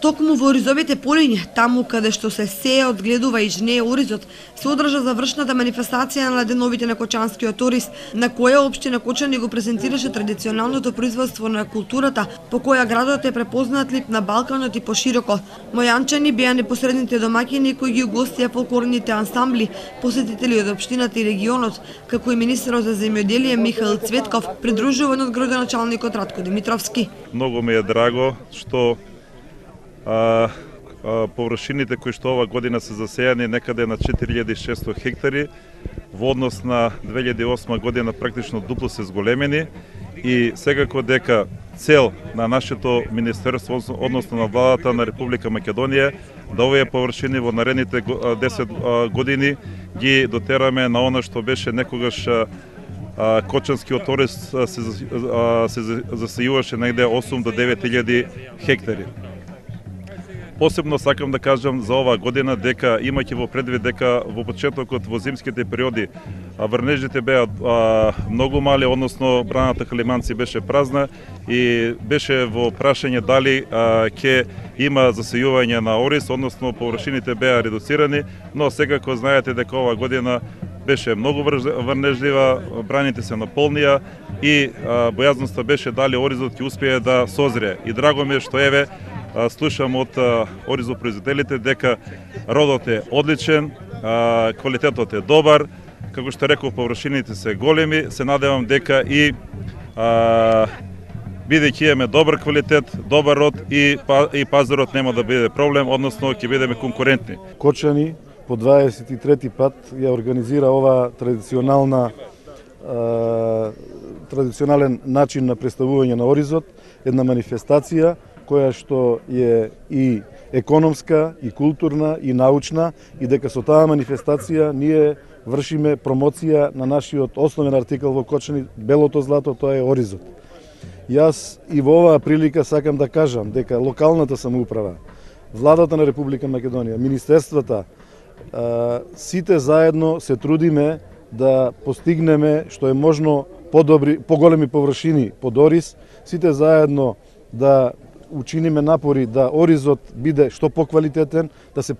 Токму во Оризовите полиња, таму каде што се сее, одгледува и жнее оризот, се одржа завршната манифестација на деновите на Кочанскиот ориз, на која општина Кочани го презентираше традиционалното производство на културата, по која градот е препознатлив на Балканот и пошироко. Мојанчани беа непосредните домаќини кои ги угостија фолклорните ансамбли, посетители од општината и регионот, како и министерот за земјоделие Михаил Цветков, придружуван од градоначалникот Ратко Димитровски. Многу ми е драго што површините кои што ова година се засејани некаде на 4600 хектари, во однос на 2008 година практично дупло се зголемени и секако дека цел на нашето министерство, односно на владата на Република Македонија, да овие површини во наредните 10 години ги дотераме на она што беше некогаш Кочанскиот ориз се засејуваше негде 8 до 9000 хектари. Посебно сакам да кажам за оваа година дека имајќи во предвид дека во почетокот во зимските периоди врнежите беа многу мали, односно браната Калиманци беше празна и беше во прашање дали ќе има засејување на ориз, односно површините беа редуцирани, но секако знаете дека оваа година беше многу врнежлива, браните се наполнија и бојазноста беше дали оризот ќе успее да созрее. И драго ми е што еве слушам од оризопроизводителите дека родот е одличен, квалитетот е добар, како што реков, површините се големи, се надевам дека и бидејќи имаме добар квалитет, добар род и пазарот нема да биде проблем, односно ќе бидеме конкурентни. Кочани по 23 пат ја организира ова традиционален начин на представување на оризот, една манифестација која што е и економска, и културна, и научна, и дека со таа манифестација ние вршиме промоција на нашиот основен артикал во Кочани, белото злато, тоа е оризот. Јас и во оваа прилика сакам да кажам дека локалната самоуправа, владата на Република Македонија, министерствата, сите заедно се трудиме да постигнеме што е можно поголеми површини под ориз, сите заедно да учиниме напори да оризот биде што поквалитетен, да се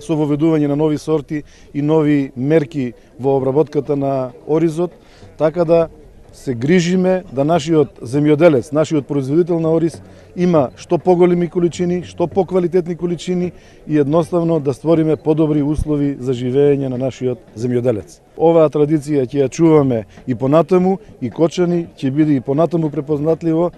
со воведување на нови сорти и нови мерки во обработката на оризот, така да се грижиме да нашиот земјоделец, нашиот производител на ориз има што поголеми количини, што поквалитетни количини и едноставно да створиме подобри услови за живење на нашиот земјоделец. Оваа традиција ќе ја чуваме и понатаму, и Кочани ќе биде и понатаму препознатливо,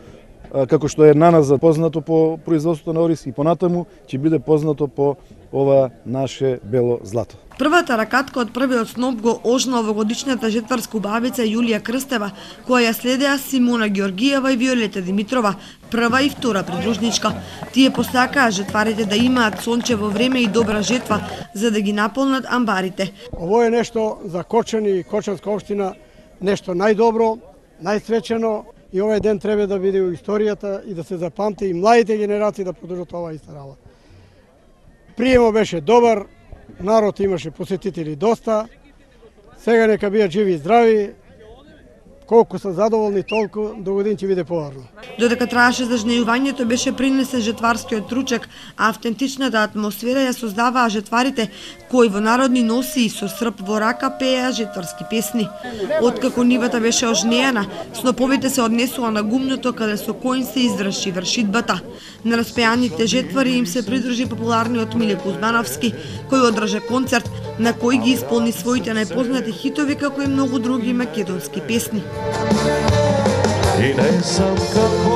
како што е на нас познато по производството на ориз, и понатаму ќе биде познато по ова наше бело злато. Првата ракатка од првиот сноп го ожна овогодишната жетварска убавица Јулија Крстева, која ја следеа Симона Георгиева и Виолета Димитрова, прва и втора придружничка. Тие посакаа жетварите да имаат сончево време и добра жетва, за да ги наполнат амбарите. Ово е нешто за Кочани и Кочанска општина, нешто најдобро, најсвечено, и овој ден треба да биде во историјата и да се запамти и младите генерации да продолжат оваа иста работа. Приемот беше добар, народ имаше посетители доста, сега нека бидат живи и здрави, колку се задоволни, толку до година ќе биде поварно. Додека траеше зажнејувањето, беше принесен жетварскиот ручек, а автентичната атмосфера ја создаваа жетварите, кои во народни носи и со срп во рака пееа жетварски песни. Откако нивата беше ожнејана, сноповите се однесува на гумното каде со кој се изврши вршидбата. На распеаните жетвари им се придружи популарниот Миле Кузмановски, кој одржа концерт на кој ги исполни своите најпознати хитови, како и многу други македонски песни. И не знам како